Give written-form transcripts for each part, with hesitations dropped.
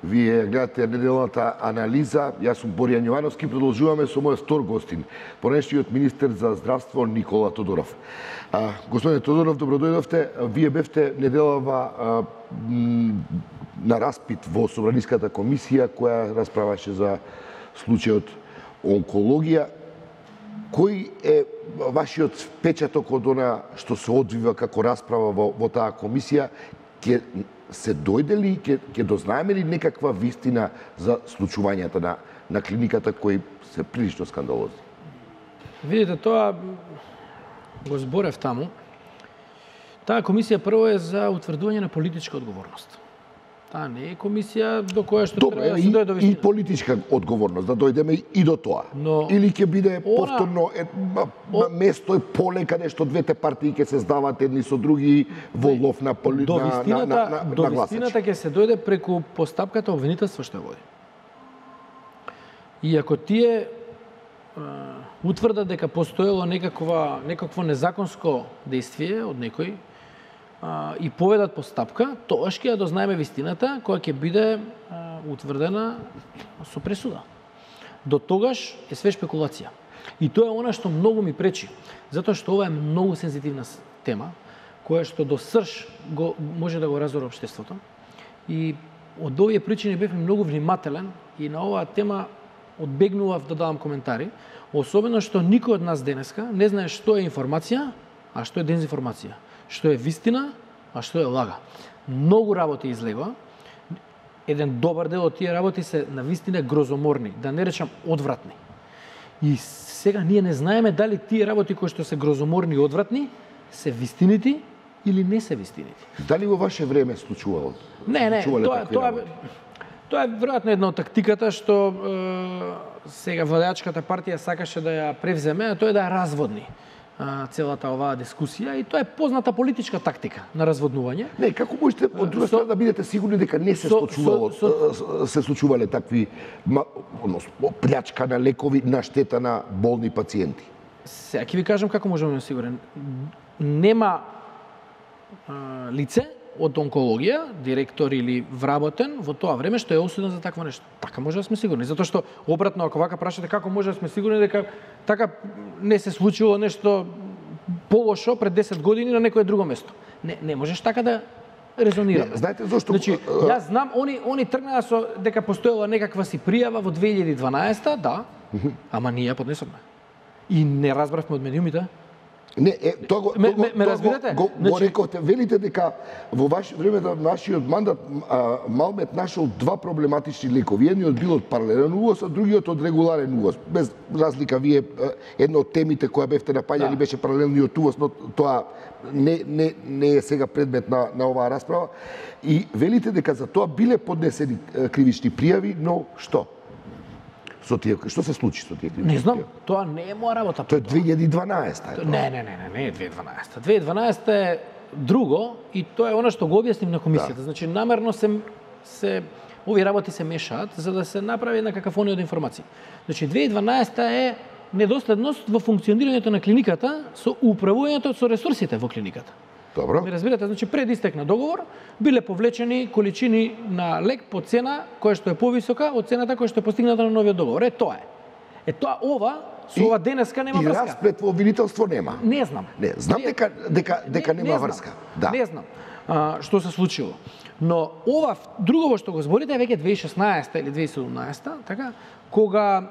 Вие гледате неделната анализа. Јас сум Боријан Јовановски, продолжуваме со мојот втор гостин, понешниот министер за здравство Никола Тодоров. Господине Тодоров, добродојдовте. Вие бевте неделава на распит во Собраниската комисија која расправаше за случајот онкологија. Кој е вашиот впечаток од она што се одвива како расправа во таа комисија? Ќе се дојде ли, ќе дознаеме ли некаква вистина за случувањата на клиниката кои се прилично скандалозни? Видите, тоа го зборев таму. Таа комисија прво е за утврдување на политичка одговорност. Таа не е комисија до која што треба да се дојде до вистина. И политичка одговорност, да дојдеме и до тоа. Но или ќе биде повторно место и поле каде што двете партии ќе се здават едни со други во лов на гласачи. До вистината ќе се дојде преку постапката обвинителство што води. И ако тие утврдат дека постоело некакво незаконско действие од некој, и поведат постапка, тогаш ќе ја дознаеме вистината која ќе биде утврдена со пресуда. До тогаш е све шпекулација. И тоа е она што многу ми пречи, затоа што ова е многу сензитивна тема, која што до срж може да го разори општеството. И од овие причини бев многу внимателен и на оваа тема одбегнував да давам коментари, особено што никој од нас денеска не знае што е информација, а што е дезинформација. Што е вистина, а што е лага. Многу работи излегува. Еден добар дел од тие работи се на вистина грозоморни, да не речам одвратни. И сега ние не знаеме дали тие работи кои што се грозоморни и одвратни се вистинити или не се вистинити. Дали во ваше време случувало? Не, тоа е веројатно една од тактиката што сега владеачката партија сакаше да ја превземе, а тоа е да ја разводни целата оваа дискусија, и тоа е позната политичка тактика на разводнување. Не, како можете од друга страна да бидете сигурни дека не се случувале такви плячка на лекови на штета на болни пациенти? Сега ќе ви кажам како можеме да сигурен. Нема лице од онкологија, директор или вработен во тоа време што е осуден за такво нешто. Така може да сме сигурни, затоа што обратно ако вака прашате како може да сме сигурни дека така не се случило нешто полошо пред 10 години на некое друго место. Не можеш така да резонираме. Знаете зошто? Значи, јас знам они тргнаа со дека постоела некаква си пријава во 2012, да, ама ние ја поднесовме. И не разбравме од медиумите. Не, тоа го рековте, велите дека во ваше време на нашиот мандат Малмет нашол два проблематични лекови. Едниот бил од паралелен увоз, а другиот од регуларен увоз. Без разлика, вие една од темите која бевте напаѓали беше паралелниот увоз, но тоа не е сега предмет на оваа расправа. И велите дека за тоа биле поднесени кривични пријави, но што? Што се случи со тие кривични? Не знам, тоа не е моја работа. Тоа е 2012. Не е 2012. 2012 е друго и тоа е она што го објаснив на комисијата. Значи намерно се овие работи се мешаат за да се направи една какафонија од информации. Значи 2012 е недоследност во функционирањето на клиниката со управувањето со ресурсите во клиниката. Добро. Ми разбирате, значи пред истек на договор биле повлечени количини на лек по цена која што е повисока од цената која што е постигната на новиот договор. Тоа е. Тоа со ова денеска нема врска. И расплет во обвинителство нема. Не знам. Не, знам дека нема врска. Да. Не знам што се случило. Но ова друго што го зборите е веќе 2016 или 2017, така, кога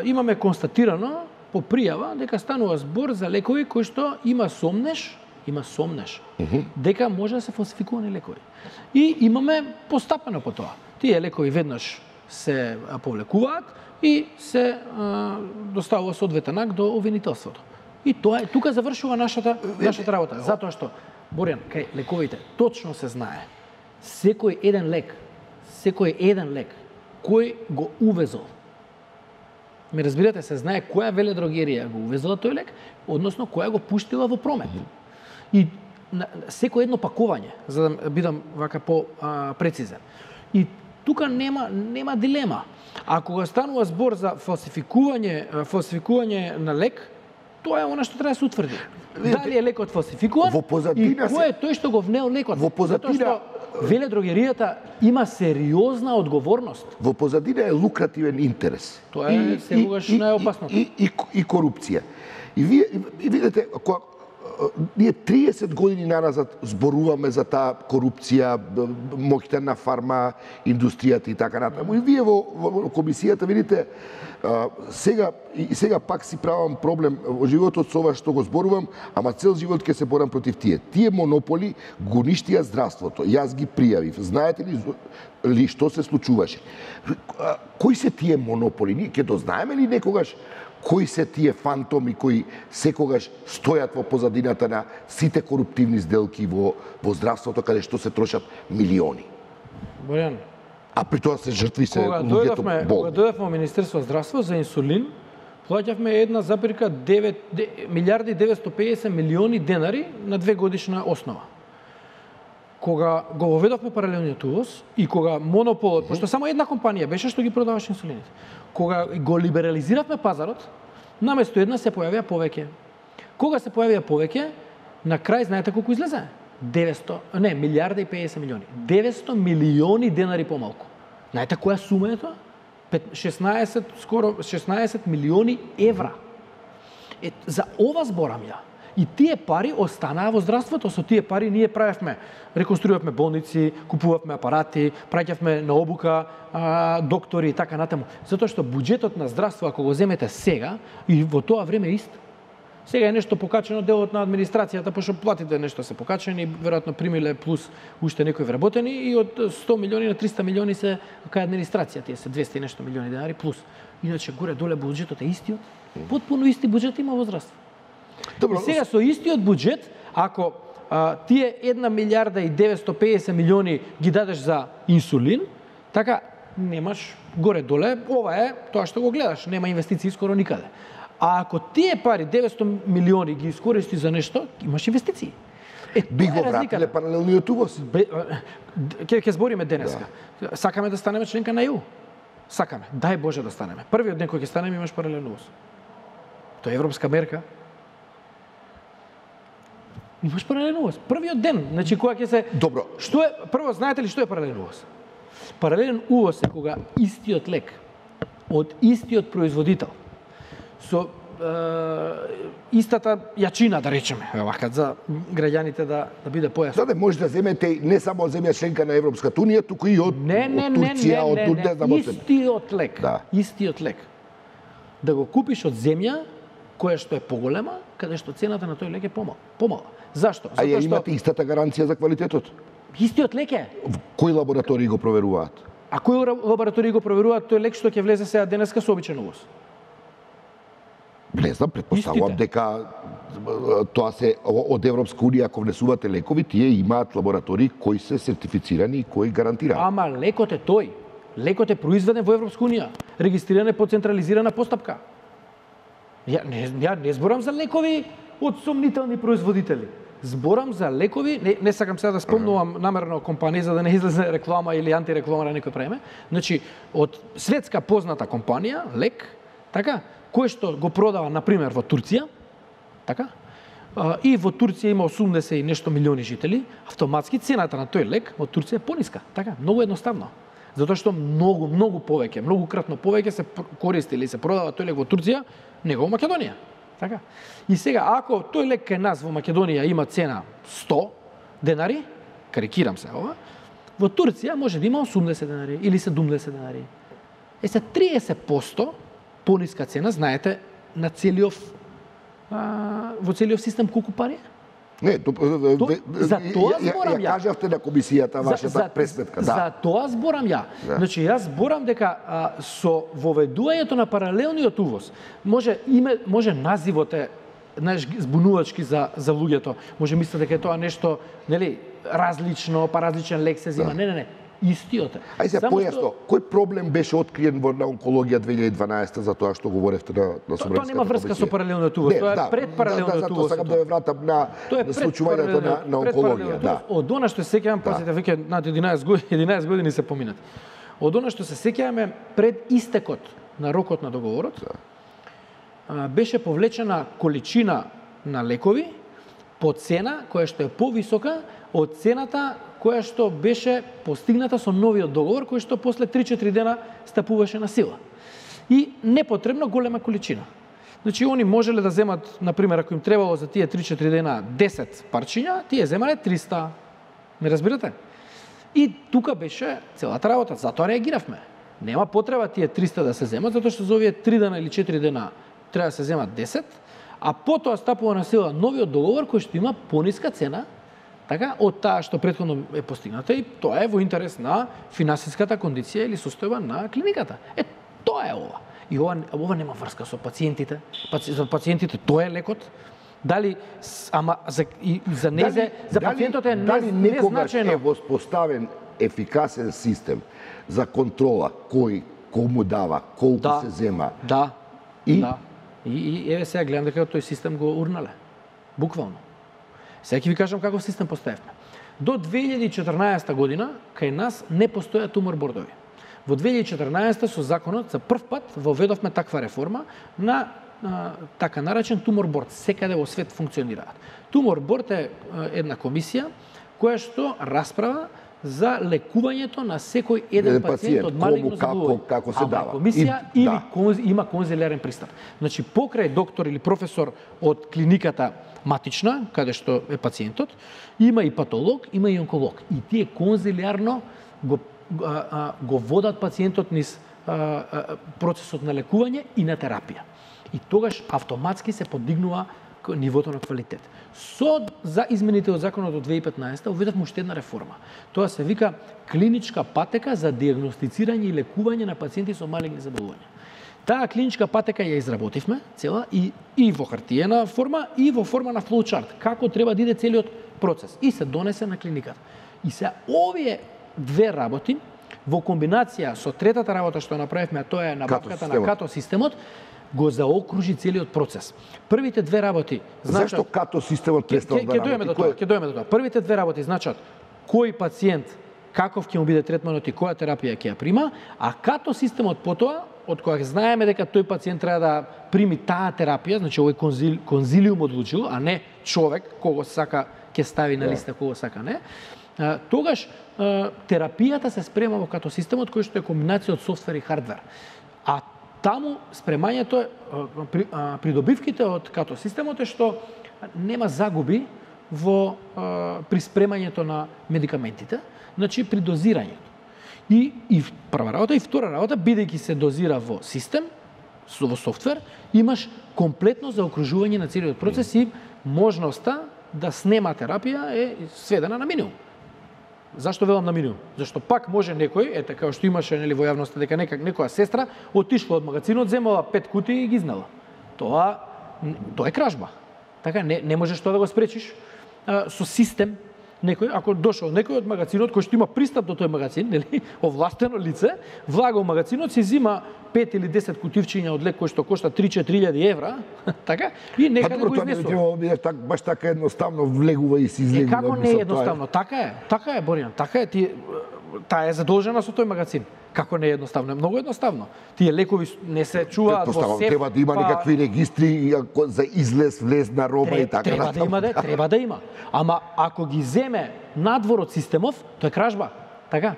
имаме констатирано по пријава дека станува збор за лекови кои што има сомнеш дека може да се фалсификувани лекови. И имаме постапено по тоа. Тие лекови веднаш се повлекуваат и се доставува соодветен акт до обвинителството. И тоа е, тука завршува нашата работа. Затоа што, Боријан, кај лековите точно се знае секој еден лек кој го увезол. Ме разбирате, се знае која веледрогерија го увезла тој лек, односно која го пуштила во промет. И секој едно пакување, за да бидам вака по-прецизен. И тука нема дилема. Ако го станува збор за фалсификување на лек, тоа е она што треба да се утврди. Дали е лекот фалсификуван и кој е тој што го внел лекот? Во позадина веледрогеријата има сериозна одговорност. Во позадина е лукративен интерес. Тоа е сегогаш најопасното. И корупција. И видите, ние 30 години назад зборуваме за таа корупција, моќта на фарма индустријата и така натаму. И вие во комисијата видите, сега пак си правам проблем во животот со ова што го зборувам, ама цел живот ќе се борам против тие. Тие монополи го уништија здравството. Јас ги пријавив. Знаете ли што се случуваше? Кои се тие монополи? Ние ќе дознаеме ли некогаш кои се тие фантоми кои секогаш стојат во позадината на сите коруптивни сделки во здравството, каде што се трошат милиони? Бојан, а при тоа се жртви се луѓето болни. Кога дојдовме во Министерство за здравство за инсулин, плаќавме 1,9 милиарди 950 милиони денари на 2 годишна основа. Кога го воведовме паралелниот увоз и кога монополот, пошто само една компанија беше што ги продаваше инсулините, кога го либерализиравме пазарот, наместо една се појавија повеќе. Кога се појавија повеќе, на крај знаете колку излезе? Милиарда и 50 милиони. 900 милиони денари помалку. Знаете која сума е тоа? 16 милиони евра. За ова зборам ја. И тие пари останаа во здравството. Со тие пари ние правевме, реконструиравме болници, купувавме апарати, праќавме на обука доктори и така натаму. Затоа што буџетот на здравство, ако го земете сега, и во тоа време ист, сега е нешто покачено, делот на администрацијата, пошто платите нешто се покачени, веројатно примиле плюс уште некои вработени и од 100 милиони на 300 милиони се кај администрација, тие се 200 и нешто милиони денари плюс. Иначе горе доле буџетот е истиот, потпуно исти буџет има во здравство. Добро, и сега со истиот буџет, ако тие 1 милиарда и 950 милиони ги дадеш за инсулин, така немаш горе доле, ова е тоа што го гледаш, нема инвестиции скоро никаде. А ако тие пари 900 милиони ги искористи за нешто, имаш инвестиции. Би го вратиле паралелниот увоз. Ќе збориме денеска. Сакаме да станеме членка на ЕУ. Сакаме. Дај Боже да станеме. Првиот ден кој ќе станеме имаш паралелен увоз. Тоа е европска мерка. Имаш паралелен увоз. Првиот ден, значи кога ќе се Добро. Што е прво знаете ли што е паралелен увоз? Паралелен увоз е кога истиот лек од истиот производител со истата јачина, да речеме, вака за граѓаните да биде појасно. Да, може да земете не само од земја членка на Европската унија, туку и од Турција, од не знам од истиот лек. Да. Истиот лек. Да го купиш од земја која што е поголема, каде што цената на тој лек е помала. Зашто? А ја имате истата гаранција за квалитетот? Истиот лек е. Кои лаборатории го проверуваат? А кои лаборатории го проверуваат тој лек што ќе влезе сега денеска со обичен увоз? Не знам, претпоставувам дека тоа се од Европска унија, ако внесувате лекови, тие имаат лаборатории кои се сертифицирани и кои гарантираат. Ама лекот е тој. Лекот е произведен во Европска унија, регистриран е по централизирана постапка. Ја не зборам за лекови од сомнителни производители. Зборам за лекови, не сакам сега да спомнувам намерно компанија за да не излезе реклама или антиреклама на некој преме. Значи, од светска позната компанија, лек, така, кој што го продава, например, во Турција, така, и во Турција има 80 и нешто милиони жители, автоматски цената на тој лек во Турција е пониска, така, многу едноставно. Затоа што многу повеќе, многукратно повеќе се користи или се продава тој лек во Турција, него во Македонија. Така. И сега, ако тој лек кај нас во Македонија има цена 100 денари, карикирам се ова, во Турција може да има 80 денари или 70 денари. Се 30% пониска цена, знаете, на во целиот систем колку пари е? Не, за тоа зборам ја. Кажавте на комисијата вашата пресметка, да. За тоа зборам ја. Да. Значи, јас зборам дека со воведувањето на паралелниот увоз може називот е збунувачки за луѓето. Може мислите дека е тоа нешто, нели, различно, па различен лек се зима. Не. Истиот е. Ај се појасно, кој проблем беше откриен во онкологија 2012 за тоа што говоревте на Собранската комисија? Тоа нема врска со паралелниот увоз, тоа е пред паралелниот увоз. Сакам да ве вратам на случувањето на онкологија, да. Од она што се сеќавам, пазите, веќе над 11 години се поминат. Од она што се сеќаваме пред истекот на рокот на договорот, беше повлечена количина на лекови по цена која што е повисока од цената која што беше постигната со новиот договор, кој што после 3-4 дена стапуваше на сила. И непотребно голема количина. Значи, они можеле да земат, например, ако им требало за тие 3-4 дена 10 парчиња, тие земале 300. Не разбирате? И тука беше целата работа, затоа реагиравме. Нема потреба тие 300 да се земат, затоа што за овие 3 дена или 4 дена треба да се земат 10, а потоа стапува на сила новиот договор кој што има пониска цена, така, од таа што претходно е постигната, и тоа е во интерес на финансиската кондиција или состојба на клиниката. Тоа е ова. И ова нема врска со пациентите. За пациентите тоа е лекот. Дали за незе, за пациентот е дали некогаш незначајно. е воспоставен ефикасен систем за контрола кој кому дава, колку се зема. Да. И да. И еве сега гледам дека тој систем го урнале. Буквално. Сега ќе ви кажам каков систем поставивме. До 2014 година кај нас не постоја тумор бордови. Во 2014 со законот за прв пат воведовме таква реформа на така наречен тумор борд. Секаде во свет функционираат. Тумор борд е една комисија која што расправа за лекувањето на секој еден пациент од малигно заболување. Како се дава. Комисија има конзилиарен пристап. Значи, покрај доктор или професор од клиниката матична, каде што е пациентот, има и патолог, има и онколог. И тие конзилиарно го водат пациентот низ процесот на лекување и на терапија. И тогаш автоматски се подигнува нивото на квалитет. За измените од законот од 2015 уведовме уште една реформа. Тоа се вика клиничка патека за диагностицирање и лекување на пациенти со малигни заболувања. Таа клиничка патека ја изработивме цела и во хартиена форма и во форма на флоучарт, како треба да иде целиот процес, и се донесе на клиниката. И се овие две работи во комбинација со третата работа што направивме, а тоа е набавката на като системот, го заокружи целиот процес. Првите две работи значат... Зашто като системот престал да работи? Ќе дојме до тоа. Првите две работи значат кој пациент, каков ќе му биде третманот и која терапија ќе ја прима, а като системот потоа, од која знаеме дека тој пациент треба да прими таа терапија, значи овој конзилиум одлучил, а не човек кого сака ќе стави на листа, кого сака не, тогаш терапијата се спрема во като системот кој што е комбинација од софтвер и хардвер. А таму спремањето, придобивките од като системот е што нема загуби при спремањето на медикаментите, значи при дозирањето. И прва работа, и втора работа, бидејќи се дозира во систем, во софтвер, имаш комплетно заокружување на целиот процес и можноста да снема терапија е сведена на минимум. Зашто велам на минимум? Зашто пак може некој, ете како што имаше нели во јавноста дека некоја сестра отишла од магазинот, земала 5 кутии и ги изнела. Тоа е кражба. Така не можеш тоа да го спречиш со систем. Некој, ако дошол некој од магазинот кој што има пристап до тој магазин, нели, овластено лице, влага во магазинот, се зима 5 или 10 кутивчиња од лек кој што кошта 3-4 евра, така, и некаде го изнесува. Баш така едноставно влегува и се излегува. Како не е едноставно? Така е, Боријан, така е. Таа е задолжена со тој магазин. Како не е едноставно? Е многу едноставно. Тие лекови не се чуваат во сеф. Треба да има некакви регистри за излез, влез на роба и така. Треба да има. Ама ако ги земе надвор од системов, тоа е кражба. Така?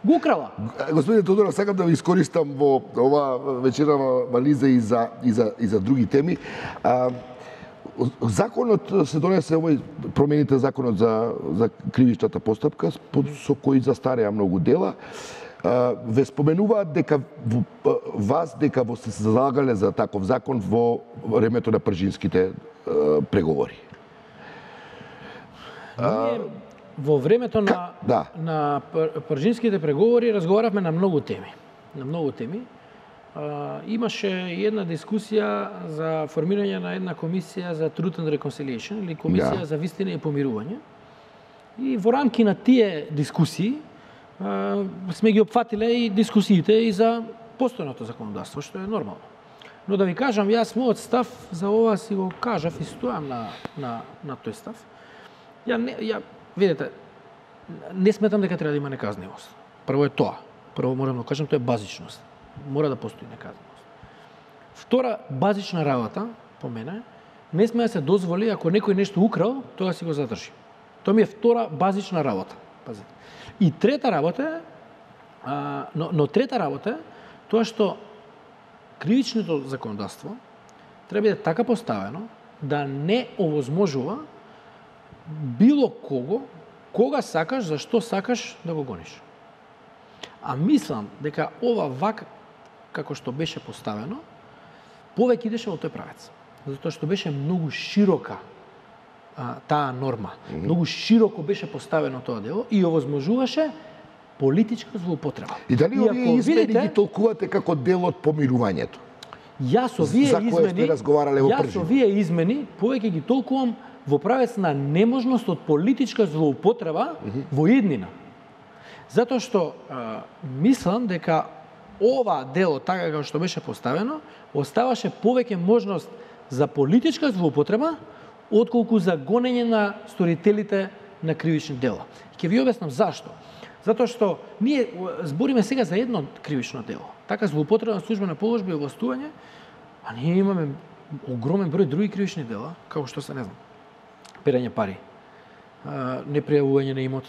Го украла. Господине Тодоров, сакам да ви искористам во ова вечерава вализа и за други теми. Законот се донесе промените законот за кривичната постапка со кој застареа многу дела. Ве споменуваат дека вас дека сте се залагале за таков закон во времето на пржинските преговори. Во времето на пржинските преговори разговаравме на многу теми. Имаше една дискусија за формирање на една комисија за Truth and Reconciliation или комисија за вистина и помирување. И во рамки на тие дискусии сме ги опфатиле и дискусиите и за постојното законодавство, што е нормално. Но да ви кажам, јас мојот став за ова си го кажав и стојам на тој став. Видете, не сметам дека треба да има неказнивост. Прво е тоа. Прво морам да кажам, тоа е базичност. Мора да постои неказнивост. Втора базична работа, по мене, не сме да се дозволи ако некој нешто украл, тоа си го задржи. Тоа ми е втора базична работа. Пазете. И трета работа е, но трета работа е тоа што кривичното законодавство треба да биде така поставено да не овозможува било кого, кога сакаш, зашто сакаш да го гониш. А мислам дека ова вака како што беше поставено, повеќе идеше во тој правец. Затоа што беше многу широка таа норма. Многу широко беше поставено тоа дело и овозможуваше политичка злоупотреба. И дали овие измени ги толкувате како дел од помирувањето? Јас овие измени повеќе ги толкувам во правец на неможност од политичка злоупотреба во иднина. Затоа што мислам дека ова дело, така како што беше поставено, оставаше повеќе можност за политичка злоупотреба, отколку за гонење на сторителите на кривични дела. Ќе ви објаснам зашто. Затоа што ние збориме сега за едно кривично дело. Така злоупотреба на службена положба и овластување, а ние имаме огромен број други кривични дела, како што се, не знам, перење пари, непријавување на имот,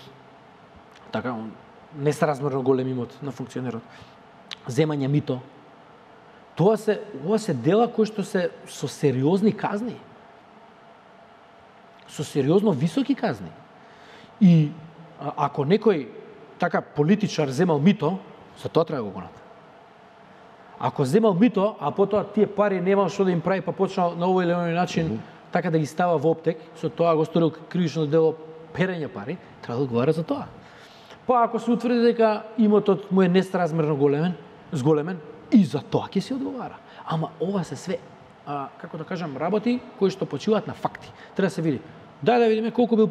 така, несразмерно голем имот на функционерот, земање мито. Ова се дела кои што се со сериозни казни. Со сериозно високи казни. И ако некој така политичар земал мито, за тоа треба да го гонат. Ако земал мито, а потоа тие пари немал што да им прави, па почнал на овој или оној начин така да ги става во оптек, со тоа го сторил кривично дело перење пари, треба да одговара за тоа. Па ако се утврди дека имотот му е несразмерно зголемен, и за тоа ќе се одговара. Ама ова се све, како да кажам, работи кои што почиваат на факти. Треба да се види. Дај да видиме колку бил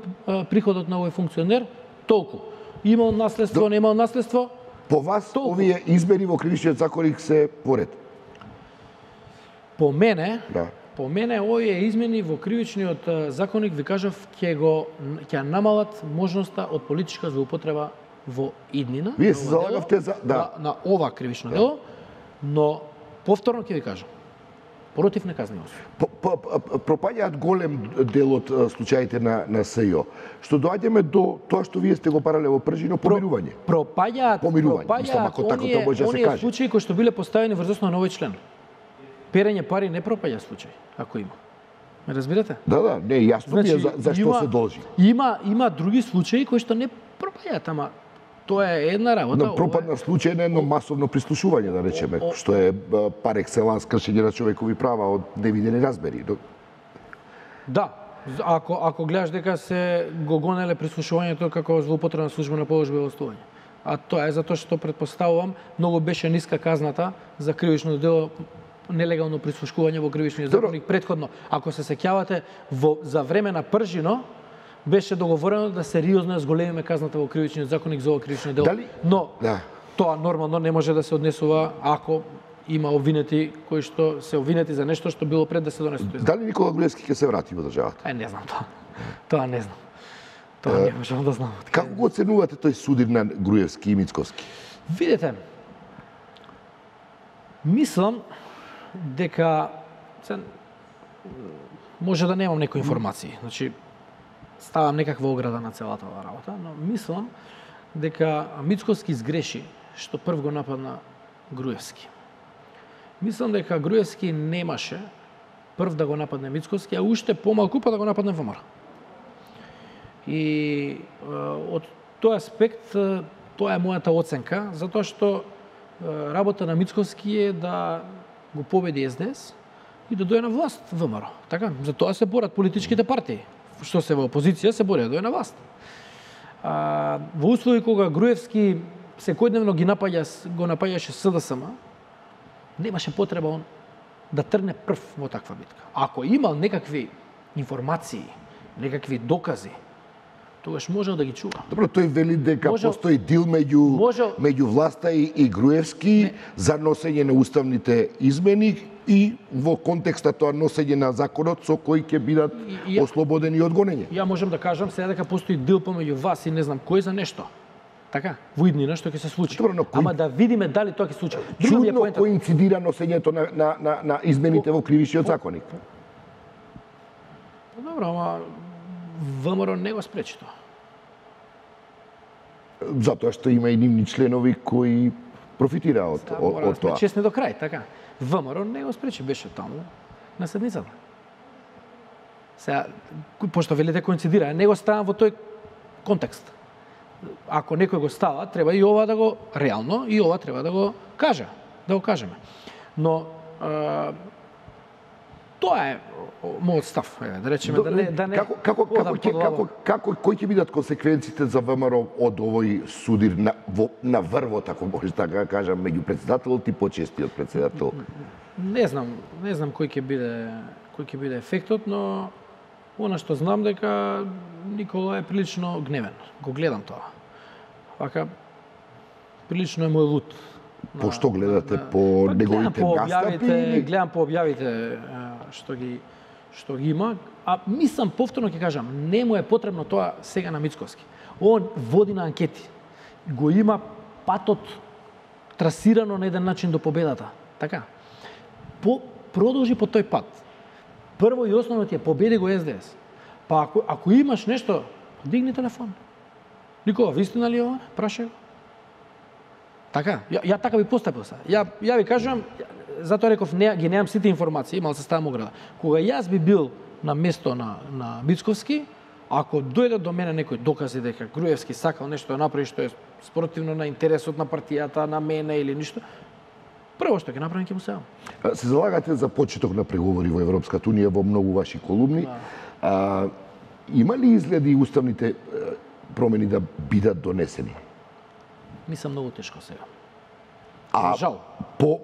приходот на овој функционер, толку. Имал наследство, немал наследство. По вас, толку. Овие измени во кривичниот законник се поред? По мене, овие измени во кривичниот законник, ви кажав, ќе намалат можноста од политичка злоупотреба во иднина. Вие се залагавте за на ова кривично дело, но повторно ќе ви кажам, против неказнивост. Пропаѓаат голем дел од случаите на СЈО. Што доаѓаме до тоа што вие сте го парале во пржино помирување. Пропаѓаат оние случаи кои што биле поставени врз основа на овој член. Перење пари не пропаѓа случај, ако има. Ме разбирате? Да, не, јасно ми е за што се должи. Има други случаи кои што не пропаѓаат, ама тоа е една работа. Но пропадна случај на едно масовно прислушување, да речеме, што е пар екселанс кршење на човекови права од невидени размери. Да, ако гледаш дека се го гонеле прислушувањето како злоупотреба на службена положба и овластување. А тоа е затоа што предпоставувам многу беше ниска казната за кривично дело нелегално прислушкување во кривичниот законник претходно. Ако се сеќавате, за време на пржино беше договорено да сериозно зголемиме казната во кривичниот законник за ова кривично дело. Но тоа нормално не може да се однесува ако има обвинети кои што се обвинети за нешто што било пред да се донесе тој закон. Дали Никола Груевски ќе се врати во државата? Не знам тоа. Тоа не знам. Тоа не можам да знам. Како го оценувате тој судир на Груевски и Мицковски? Видете, мислам дека може да немам некои информации. Значи, ставам некаква ограда на целата оваа работа, но мислам дека Мицковски сгреши што прв го нападна Груевски. Мислам дека Груевски немаше прв да го нападне Мицковски, а уште помалку па да го нападне ВМРО. И од тој аспект, тоа е мојата оценка, затоа што работа на Мицковски е да го победи СДС и да дојде на власт ВМРО. Така, за тоа се борат политичките партии. Што се во опозиција се бори да дојде на власт. Во услови кога Груевски секојдневно го напаѓаше СДСМ, немаше потреба он да тргне прв во таква битка. Ако имал некакви информации, некакви докази, тогаш можел да ги чува. Добро, тој вели дека постои дил меѓу власта и Груевски за носење на уставните измени и во контекста тоа носење на законот со кој ќе бидат ослободени од гонење. Ја можам да кажам сега дека постои дил помеѓу вас и не знам кој за нешто. Така, во иднина што ќе се случи. Добро, ама да видиме дали тоа ќе се случи. Чудно коинцидира носењето на измените во кривичниот законник. Добро, ама ВМРО не го спречи тоа. Затоа што има и нивни членови кои профитираат од сме тоа. честни до крај, така. ВМРО не го спречи, беше таму на седницата. Сега, пошто велите коинцидира, не го ставам во тој контекст. Ако некој го става, треба и ова да го реално и ова треба да го кажа, да го кажеме. Но тоа е мојот став, да речеме, да не кои ќе бидат консеквенциите за ВМРО од овој судир на врвот, ако може така кажам, меѓу претседателот и почестиот претседател? Не знам кој ќе биде ефектот, но она што знам дека Никола е прилично гневен. Го гледам тоа. Вака прилично е мој лут. По што гледате? По неговите настапи? Гледам по објавите што ги има, а мислам, повторно ќе кажам, не му е потребно тоа сега на Мицковски. Он води на анкети. Го има патот трасирано на еден начин до победата. Така. Продолжи по тој пат. Прво и основно ти е победи го СДС. Па ако имаш нешто, дигни телефон. Никола, вистина ли ова? Прашај го. Така, ја така би постапил са. Ја ви кажам, затоа реков, ги немам сите информации, имал се ставам ограда. Кога јас би бил на место на Мицковски, ако дојде до мене некој докази дека Груевски сакал нешто да направи што е спротивно на интересот на партијата, на мене или ништо, прво што ќе направим ќе му сеам. Се залагате за почеток на преговори во Европската унија во многу ваши колумни. Има ли изгледи уставните промени да бидат донесени? Мислам многу тешко сега. За жал.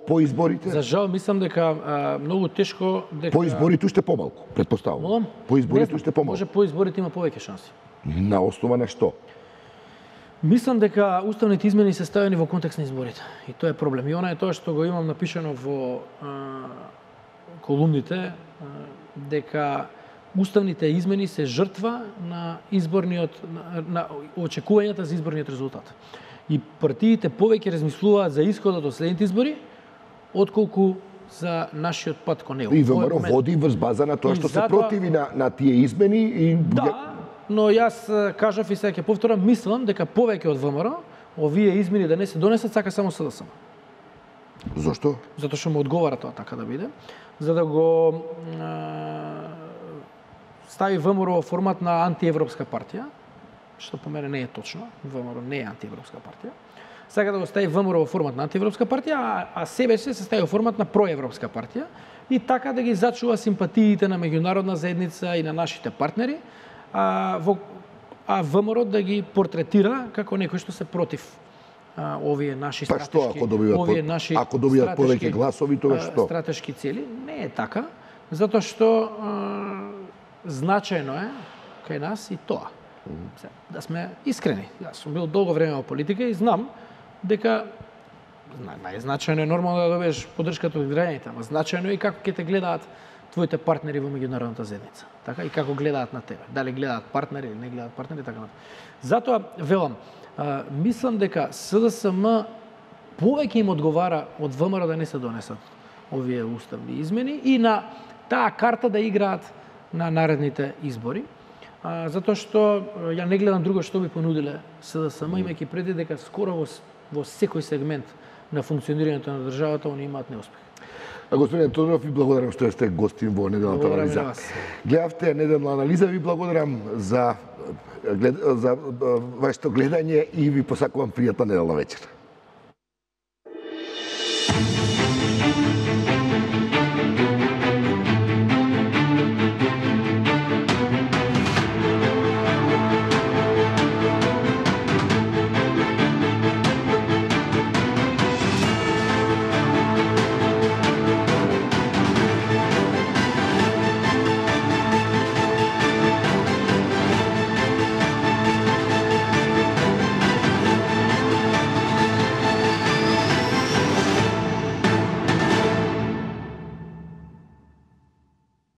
По изборите? За жал мислам дека многу тешко дека по изборите уште помалку, претпоставувам. По изборите уште помалку. Може по изборите има повеќе шанси. На основа на што? Мислам дека уставните измени се ставени во контекст на изборите. И тоа е проблем. И она е тоа што го имам напишано во колумните, дека уставните измени се жртва на на очекувањата за изборниот резултат. И партиите повеќе размислуваат за исходот од следните избори, отколку за нашиот пат кон него. И ВМРО води врз база на тоа што се противи на тие измени и да, но јас кажав и сега ќе повторам, мислам дека повеќе од ВМРО овие измени да не се донесат сака само СДСМ. Зошто? Затоа што му одговара тоа така да биде, за да го стави ВМРО во формат на антиевропска партија, што по мене не е точно. ВМРО не е антиевропска партија. Сака да го стави ВМРО во формат на антиевропска партија, а себе се стави во формат на проевропска партија и така да ги зачува симпатиите на меѓународна заедница и на нашите партнери, а ВМРО да ги портретира како некој што се против овие наши стратешки, ако добијат повеќе гласови, тоа што? Стратешки цели. Не е така, затоа што значајно е кај нас и тоа. Да сме искрени. Јас сум бил долго време во политика и знам дека најзначајно е нормално да добиеш поддршката од граѓаните, ама значајно е и како ќе те гледаат твоите партнери во меѓународната заедница. Така и како гледаат на тебе. Дали гледаат партнери или не гледаат партнери, така натаму. Затоа велам, мислам дека СДСМ повеќе им одговара од ВМРО да не се донесат овие уставни измени и на таа карта да играат на наредните избори. Затоа што ја не гледам друго што би понудиле СДСМ, имајќи преди дека скоро во секој сегмент на функционирањето на државата они имаат неуспех. Господин Тодоров, ви благодарам што сте гостин во неделната анализа. Гледавте неделна анализа, ви благодарам за вашето гледање и ви посакувам пријатна неделна вечер.